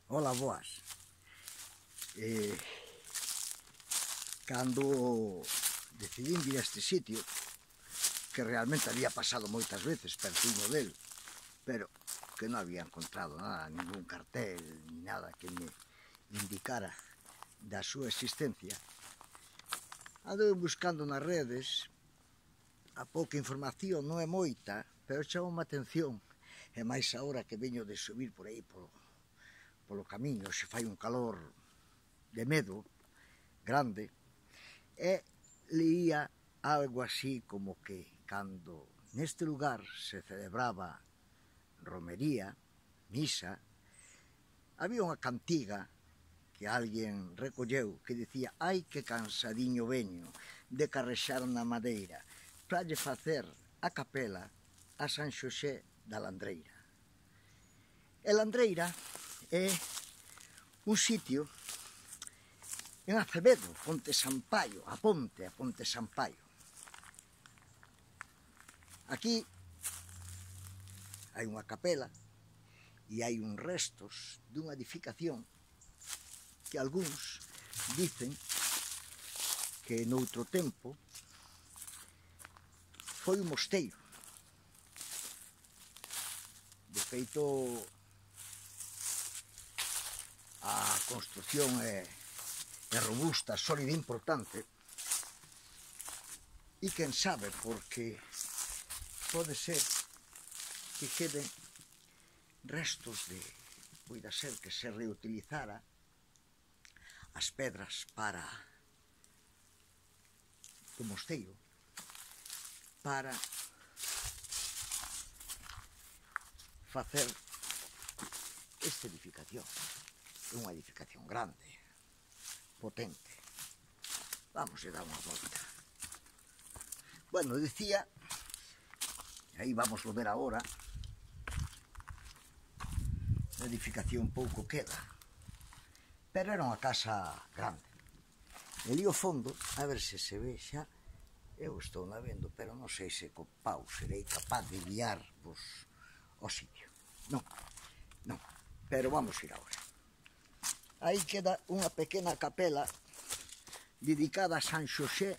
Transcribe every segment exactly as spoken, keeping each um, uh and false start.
Ola, boas. Eh, cando decidín vir a este sitio, que realmente había pasado moitas veces pertiño del, pero que non había encontrado nada, ningún cartel, ni nada que me indicara da súa existencia, andou buscando nas redes. A pouca información non é moita, pero chamou a atención, e máis agora que veño de subir por aí polo, polo camiño, se fai un calor de medo grande, e leía algo así como que cando neste lugar se celebraba romería, misa, había unha cantiga que alguén recolleu que dicía: ai que cansadiño veño de carrexar na madeira para lle facer a capela a San Xosé da Landreira. E Landreira é un sitio en Acevedo, Ponte Sampaio, a ponte, a Ponte Sampaio. Aquí hai unha capela e hai uns restos dunha edificación que algúns dicen que noutro tempo foi un mosteiro. De feito, a construción é, é robusta, sólida e importante, e quen sabe, porque pode ser que queden restos de, poida ser que se reutilizara as pedras para do mosteiro para facer esta edificación. É unha edificación grande, potente. Vamos a dar unha volta. Bueno, decía, aí vamos a ver agora, a edificación pouco queda, pero era unha casa grande. E ali ao fondo, a ver se se ve xa, eu estou na vendo, pero non sei se co pau serei capaz de guiar vos ao sitio. Non, non, pero vamos ir agora. Aí queda unha pequena capela dedicada a San Xosé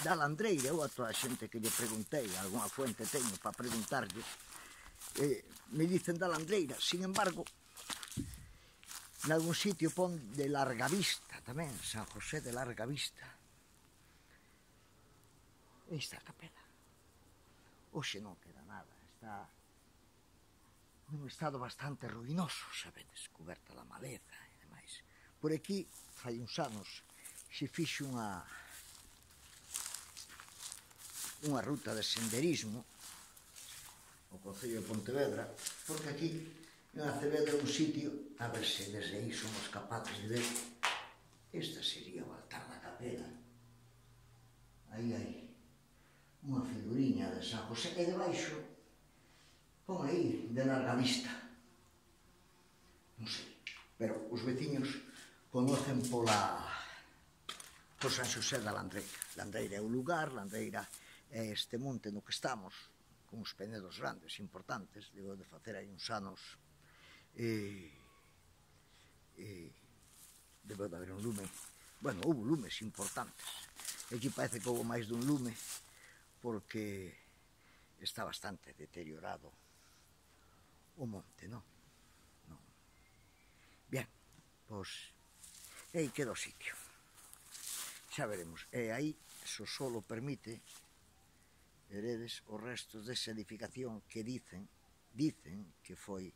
da Landreira. Eu a toda a xente que lle preguntei, algunha fuente teño para preguntarlle, eh, me dicen da Landreira. Sin embargo, nalgún sitio pon de Larga Vista tamén, San José de Larga Vista. Esta capela. Hoxe non queda nada, está nun estado bastante ruinoso, sabedes, coberta da maleza e demais. Por aquí, fai uns anos, se fixe unha unha ruta de senderismo ao Concello de Pontevedra, porque aquí en Acevedo é un sitio, a ver se desde aí somos capaces de ver, esta sería o altar da capela. Aí hai unha figuriña de San José, e debaixo pon aí de Larga Vista. Non sei, pero os veciños conocen pola por San Xosé da Landreira. Landreira é o lugar, Landreira é este monte no que estamos, con uns penedos grandes, importantes, digo, de facer aí uns anos, e, e debeu de haber un lume, bueno, houve lumes importantes. Aquí parece que houve máis dun lume, porque está bastante deteriorado o monte, non? Non. Bien, pois, aí queda o sitio. Xa veremos. E aí, se o solo permite, veredes os restos desa edificación que dicen, dicen que foi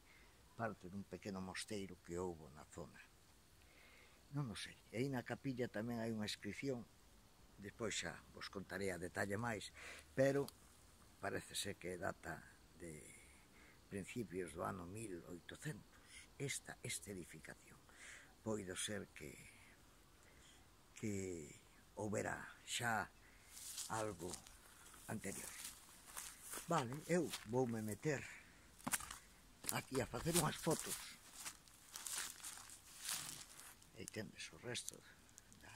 parte dun pequeno mosteiro que houbo na zona. Non o sei. E aí na capilla tamén hai unha inscripción, despois xa vos contarei a detalle máis, pero parece ser que data de principios do ano mil oitocentos. Esta, esta edificación. Poido ser que que houbera xa algo anterior. Vale, eu voume meter aquí a facer unhas fotos. Aí tendes o resto da,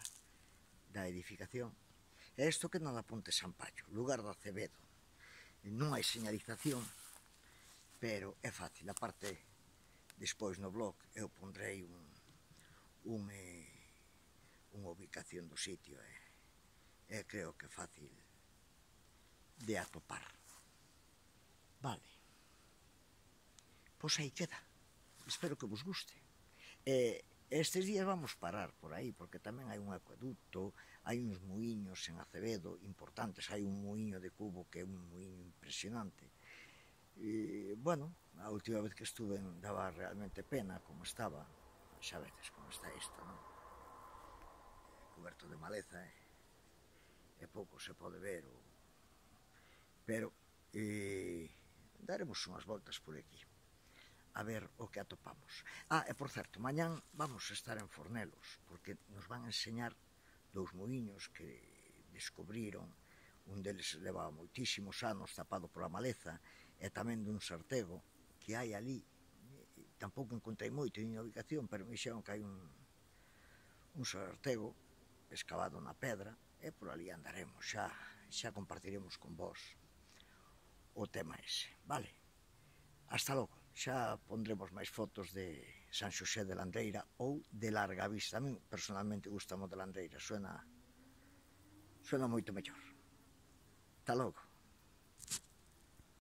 da edificación. E isto que non da Ponte Sampaio, lugar do Acevedo. Non hai señalización, pero é fácil. A parte Despois no blog eu pondrei un, un, eh, unha ubicación do sitio e eh, eh, creo que é fácil de atopar. Vale. Pois aí queda. Espero que vos guste. Eh, estes días vamos parar por aí, porque tamén hai un acueducto, hai uns muiños en Acevedo importantes, hai un muiño de Cubo que é un muiño impresionante. E, bueno, a última vez que estuve daba realmente pena como estaba, xa veces como está isto, non? Coberto de maleza, eh? E pouco se pode ver, o... pero eh, daremos unhas voltas por aquí a ver o que atopamos. Ah, e por certo, mañán vamos a estar en Fornelos, porque nos van a enseñar dous muiños que descubriron. Un deles levaba moitísimos anos tapado pola maleza, e tamén dun sartego que hai ali. Tampouco encontrei moito en a ubicación, pero me dixeron que hai un, un sartego escavado na pedra, e por ali andaremos, xa, xa compartiremos con vos o tema ese, vale? Hasta logo, xa pondremos máis fotos de San Xosé de Landreira ou de Larga Vista. A mí personalmente gustamos de Landreira, suena, suena moito mellor. Hasta logo.